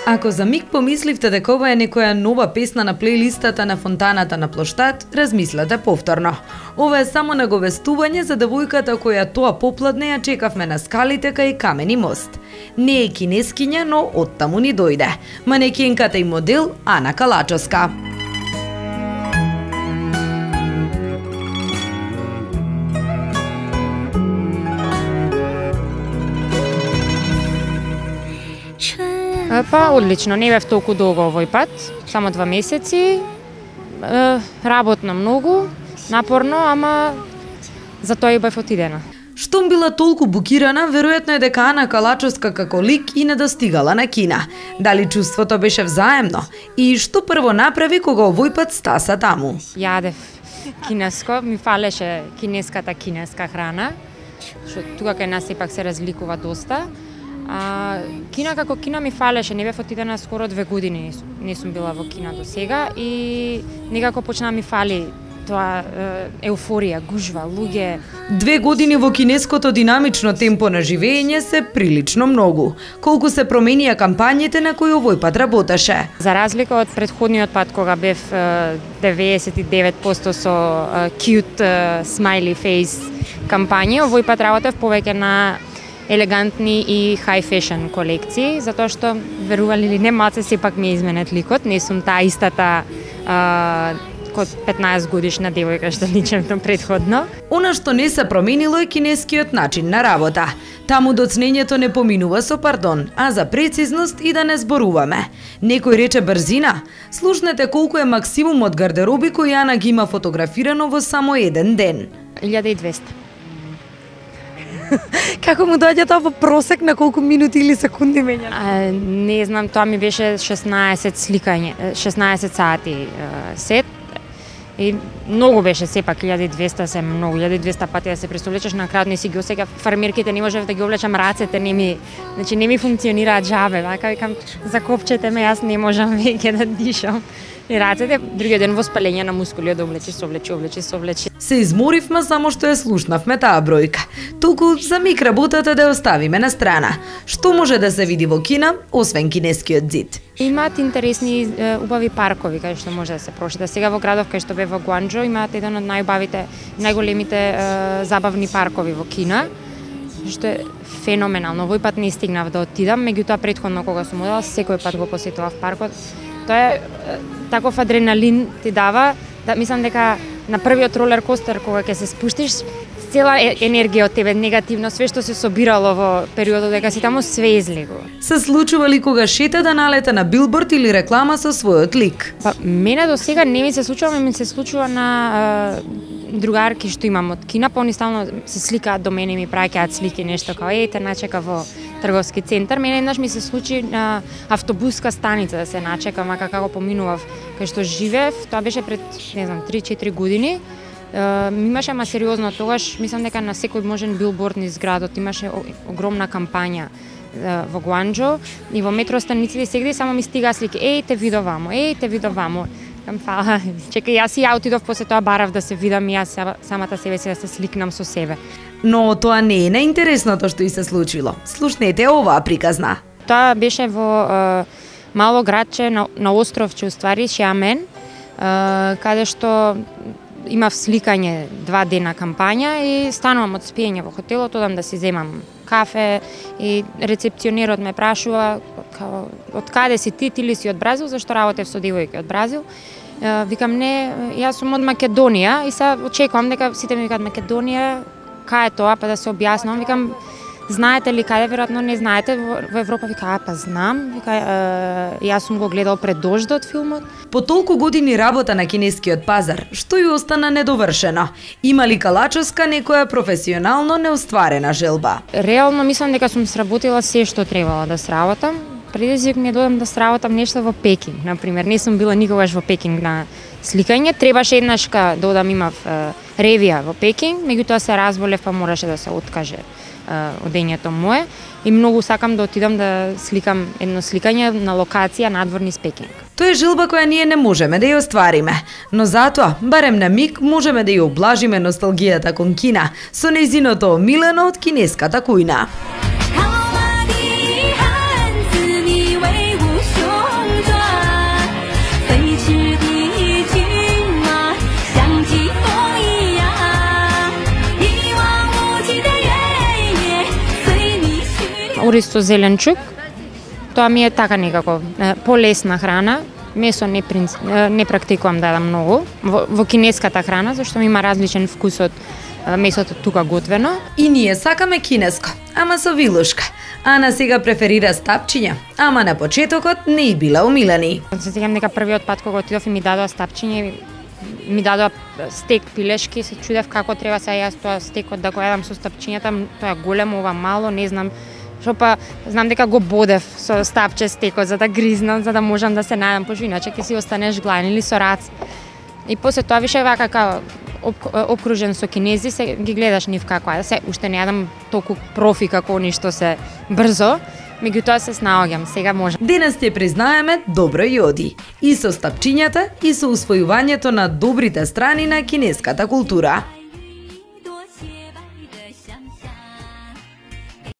Ако за миг помисливте дека ова е некоја нова песна на плейлистата на фонтаната на плоштад, размислете повторно. Ова е само наговестување за девојката која тоа попладне ја чекавме на скалите кај Камени мост. Не е кинескиња, но оттаму ни дојде. Манекенката и модел Ана Калачовска. Па, одлично, не бев толку долго овој пат, само 2 месеци, работно многу, напорно, ама затоа и бев отидена. Штом била толку букирана, веројатно е дека Ана Калачовска како лик и не достигала на кина. Дали чувството беше взаемно? И што прво направи кога овој пат стаса таму? Јадев кинеско, ми фалеше кинеска храна, што тука кај нас сепак се разликува доста. Кина како кина ми фалеше, не бев отидена скоро 2 години, не сум била во кина до сега и некако почна ми фали тоа еуфорија, гужва, луѓе. 2 години во кинеското динамично темпо на живење се прилично многу. Колку се променија кампањите на кои овој пат работеше? За разлика од претходниот пат кога бев 99% со cute smiley face кампањи, овој пат работев повеќе на елегантни и high fashion колекции, затоа што, верували или не, малце сепак ми изменет ликот, не сум таа истата код 15 годишна девојка што личевме предходно. Она што не се променило е кинескиот начин на работа. Таму доцнењето не поминува со пардон, а за прецизност и да не зборуваме. Некој рече брзина. Слушнете колку е максимумот гардероби кој Ана ги има фотографирано во само еден ден. 1200. Како му доаѓа тоа во просек, на колку минути или секунди мења? Не знам, тоа ми беше 16 сликање, 16 сати сет. И многу беше сепак, 1200 се многу, 1200 пати да се пресовлечеш, на крајот не си ги осеќав фармерките, не можев да ги облечам рацете, не ми функционираат жабе, вака викам, закопчете ме, јас не можам веќе да дишам. И рацете, другиот ден воспаление на мускули, да облечи, совлечи. Се изморивме само што ја слушнавме таа бројка. Толку за миг работата да ја оставиме на страна. Што може да се види во кина, освен кинескиот зид? Имаат интересни, убави паркови кај што може да се прошета. Сега во градов кај што бе во Гуанџо имаат еден од најубавите, најголемите забавни паркови во Кина, што е феноменално. Овој пат не стигнав да отидам, меѓутоа претходно кога сум одела, секој пат го посетував паркот. Тоа е таков адреналин ти дава, да мислам дека на првиот ролер костер кога ќе се спуштиш, цела енергија од тебе, негативно, све што се собирало во периодот дека си таму, све излегува. Се случува ли кога шета да налета на билборд или реклама со својот лик? Па, мене до сега не ми се случува, ми се случува на другарки што имам од Кина, па они стално се сликаат до мене и ми праќаат слики, нешто као те начека во трговски центар. Мене еднаш ми се случи на автобуска станица да се начекам, мака како поминував кај што живеев, тоа беше пред, не знам, 3-4 години. Имаше, ама сериозно тогаш, мислам дека на секој можен билборд низ градот имаше огромна кампања во Гуанџо и во метростаниците сегде само ми стига слики, те видов вамо. Фала, чекај, јас и ја отидов после тоа барав да се видам и јас самата себе си да се сликнам со себе. Но тоа не е најинтересното што и се случило. Слушнете оваа приказна. Тоа беше во мало градче на островче, уствари, Шиамен, каде што имав сликање 2 дена кампања и станувам од спиење во хотелот, одам да си земам кафе и рецепционерот ме прашува од каде си ти ли си од Бразил, зашто работев со девојки од Бразил. Викам не, јас сум од Македонија и сега очекувам дека сите ми викаат Македонија, кај е тоа, па да се објаснам. Викам, знаете ли каде, веројатно не знаете, во Европа. Вика, па знам, вика, јас сум го гледал пред дождот филмот. По толку години работа на кинескиот пазар, што ја остана недовршено? Има ли Калачовска некоја професионално неостварена желба? Реално мислам дека сум сработила се што требала да сработам. Предизвик ми е додам да сработам нешто во Пекинг, например. Не сум била никогаш во Пекинг на сликање. Требаше еднашка да одам, имав ревија во Пекинг, меѓутоа се разболев, па мораше да се откаже одењето мое. И многу сакам да отидам да сликам едно сликање на локација надвор низ Пекинг. Тоа е желба која ние не можеме да ја оствариме, но затоа, барем на миг, можеме да ја облажиме носталгијата кон Кина со нејзиното омилено од кинеската кујна. 好吧，你汉子，你为无数。ористо зеленчук. Тоа ми е така некако полесна храна. Месо не практикувам да јадам многу. Во кинеската храна, зашто има различен вкус од месото тука готвено. И ние сакаме кинеско, ама со вилушка. Ана сега преферира стапчиња, ама на почетокот не и била умилени. Се сеќавам дека првиот пат кога отидов и ми дадоа стапчиња, ми дадоа стек пилешки, се чудев како треба сега јас тоа стекот да го јадам со стапчињата, тоа е големо, ова мало, не знам. Што па знам дека го бодев со стапче стекот за да гризнам, за да можам да се најдам, пошто иначе ќе си останеш гладен или со рац. И после тоа више вака као обкружен со кинези, се ги гледаш нив како е. Се уште не јадам толку профи како они што се брзо, меѓутоа се снаоѓам, сега можам. Денес ти признаеме добро и оди. И со стапчињата, и со усвојувањето на добрите страни на кинеската култура.